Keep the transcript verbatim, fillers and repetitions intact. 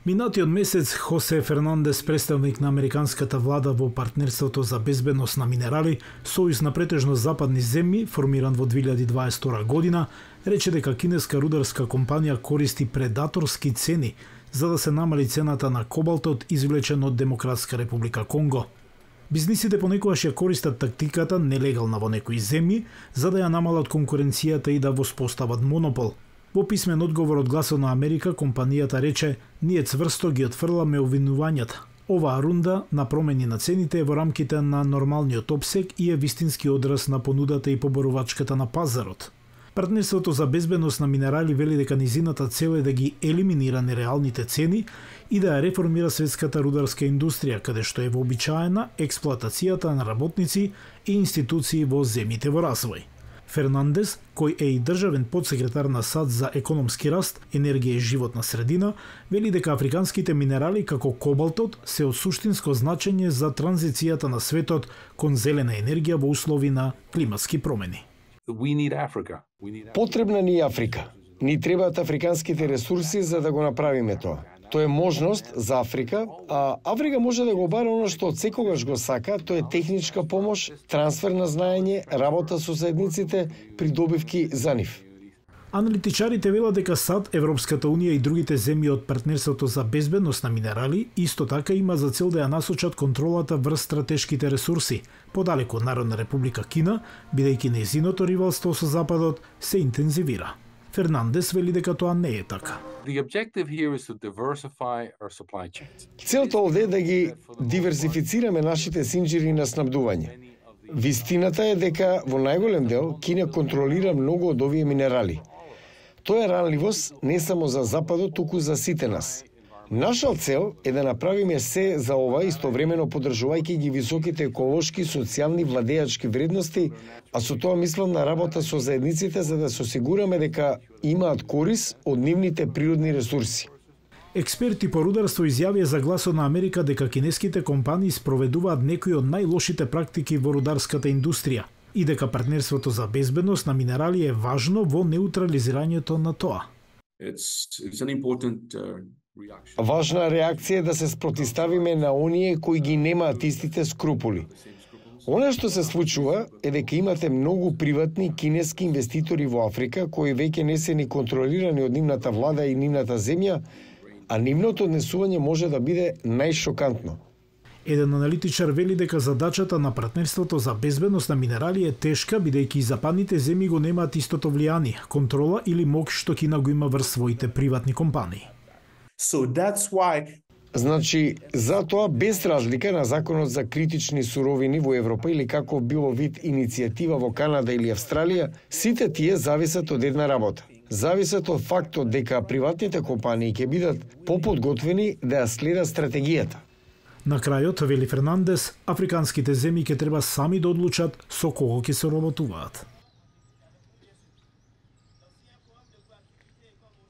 Минатиот месец Хосе Фернандес, представник на американската влада во партнерството за безбедност на минерали, сојуз на претежно западни земји, формиран во две илјади дваесет и втора година, рече дека кинеска рударска компанија користи предаторски цени за да се намали цената на кобалтот извлечен од Демократска република Конго. Бизнисите понекогаш ја користат тактиката нелегална во некои земји за да ја намалат конкуренцијата и да воспостават монопол. Во писмен одговор од Гласот на Америка, компанијата рече: "Ние цврсто ги отфрламе обвинувањата. Оваа рунда на промени на цените е во рамките на нормалниот опсег и е вистински одраз на понудата и поборувачката на пазарот." Партнерството за безбедност на минерали вели дека низината цел е да ги елиминира нереалните цени и да ја реформира светската рударска индустрија, каде што е вообичаена експлоатацијата на работници и институции во земјите во развој. Фернандес, кој е и државен подсекретар на САД за економски раст, енергија и животна средина, вели дека африканските минерали како кобалтот се од суштинско значење за транзицијата на светот кон зелена енергија во услови на климатски промени. Потребна ни е Африка. Ни требаат африканските ресурси за да го направиме тоа. Тоа е можност за Африка, а Африка може да го бара оно што од секогаш го сака, тоа е техничка помош, трансфер на знаење, работа со заедниците, придобивки за нив. Аналитичарите велат дека САД, Европската унија и другите земји од партнерството за безбедност на минерали исто така има за цел да ја насочат контролата врз стратешките ресурси, подалеку од Народна република Кина, бидејќи нејзиното ривалство со Западот се интензивира. Фернандес вели дека тоа не е така. Целта овде е да ги диверсифицираме нашите синџири на снабдување. Вистината е дека во најголем дел Кина контролира многу од овие минерали. Тоа е ранливост не само за Западот, туку за сите нас. Наша цел е да направиме се за ова, истовремено поддржувајќи ги високите еколошки, социјални, владеачки вредности, а со тоа мислам на работа со заедниците за да се осигураме дека имаат корис од нивните природни ресурси. Експерти по рударство изјавија за Гласот на Америка дека кинеските компании спроведуваат некои од најлошите практики во рударската индустрија и дека партнерството за безбедност на минерали е важно во неутрализирањето на тоа. It's, it's an important, uh... Важна реакција е да се спротиставиме на оние кои ги немаат истите скрупули. Она што се случува е дека имате многу приватни кинески инвеститори во Африка кои веќе не се ни контролирани од нивната влада и нивната земја, а нивното однесување може да биде најшокантно. Еден аналитичар вели дека задачата на партнерството за безбедност на минерали е тешка, бидејќи и западните земји го немаат истото влијание, контрола или мок што Кина го има врз своите приватни компании. So that's why... Значи, затоа без разлика на законот за критични суровини во Европа или како било вид иницијатива во Канада или Австралија, сите тие зависат од една работа. Зависат од фактот дека приватните компании ќе бидат поподготвени да ја следат стратегијата. На крајот, вели Фернандес, африканските земји ќе треба сами да одлучат со кого ќе се работуваат.